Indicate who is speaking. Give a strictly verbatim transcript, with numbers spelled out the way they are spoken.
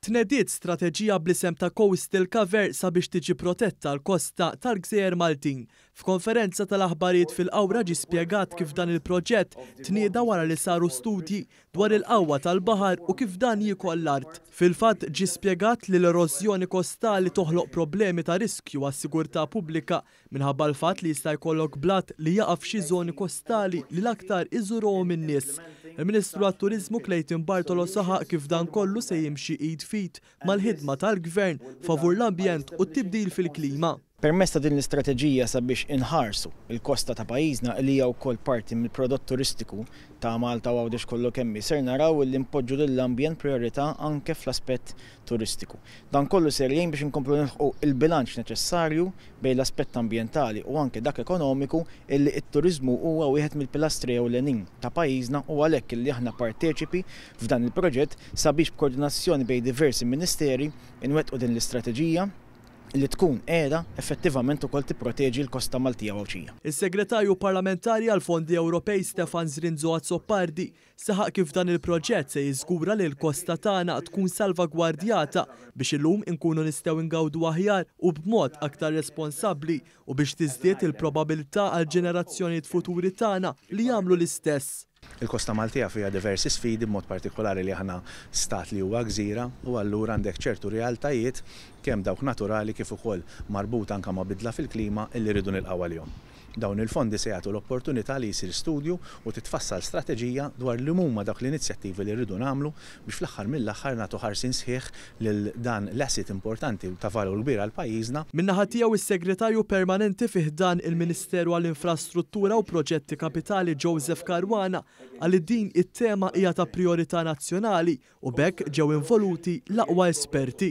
Speaker 1: Tnediet strateġija bl-isem ta' Coastal Cover sabiex tiġi protetta l-kosta tal-Gżejjer Maltin. F'konferenza tal-aħbarijiet fil-Qawra ġie spjegat kif dan il-proġett tnieda wara li saru studji dwar il-qawwa tal-baħar u kif dan jiekol l-art. Fil-fatt ġie spjegat li l-erożjoni kostali toħloq problemi ta' riskju għas-sigurtà pubblika minħabba l-fatt li jista' jkollok blat li jaqa' f'xi żoni kostali li l-aktar iżuruhom in-nies. Il-Ministru għat-Turiżmu Clayton Bartolo saħaq kif dan kollu se jimxi id f'id mal-ħidma tal-Gvern favur l-ambjent u t-tibdil fil-klima.
Speaker 2: Permezz ta' din l-istrateġija sabiex inħarsu il-kosta ta' pajjiżna, li hija wkoll parti mill-prodott turistiku ta' Malta u Għawdex kollu kemm, ser naraw li npoġġu lill-ambjent priorità anke fl-aspett turistiku. Dan kollu ser jgħin biex inkomplu nilħqu il-bilanċ neċessarju bejn l-aspett ambjentali u anke dak ekonomiku, illi t-turiżmu huwa wieħed mill-pilastri ewlenin ta' pajjiżna, u għalhekk illi aħna parteċipi f'dan il-proġett sabiex b'koordinazzjoni bejn diversi ministeri inwettqu din l-istrateġija li tkun qiegħda effettivament ukoll tipproteġi l-kosta Maltija u Għawdxija.
Speaker 1: Is-Segretarju Parlamentari għal Fondi Ewropej Stefan Zrinzo Azzopardi saħaq kif dan il-proġett se jiżgura li l-kosta tagħna tkun salvagwardjata biex illum inkunu nistgħu ngawdu aħjar u b'mod aktar responsabbli u biex tiżdied il-probabilità għal ġenerazzjonijiet futuri tagħna li jagħmlu l-istess.
Speaker 3: Il-Kosta Maltija fiha diversi sfidi, b'mod partikolari li aħna stat li huwa gżira, u allura għandek ċertu realtajiet, kemm dawk naturali kif ukoll marbuta anke ma' bidla fil-klima, illi rridu nilqgħu għalihom. Dawn il-fondi se jagħtu l-opportunità li jsir studju u titfassal strateġija dwar li huma dawk l-inizjattivi li rridu nagħmlu biex fl-aħħar mill-aħħar nagħtu ħarsin sħiħ lil dan l-asset importanti ta' valur kbir għal pajjiżna.
Speaker 1: Min-naħa tiegħu, is-Segretarju Permanenti fi ħdan il-Ministeru għall-Infrastruttura u Proġetti Kapitali Joseph Caruana qal li din it-tema hija ta' priorità nazzjonali u b'hekk ġew involuti l-aqwa esperti.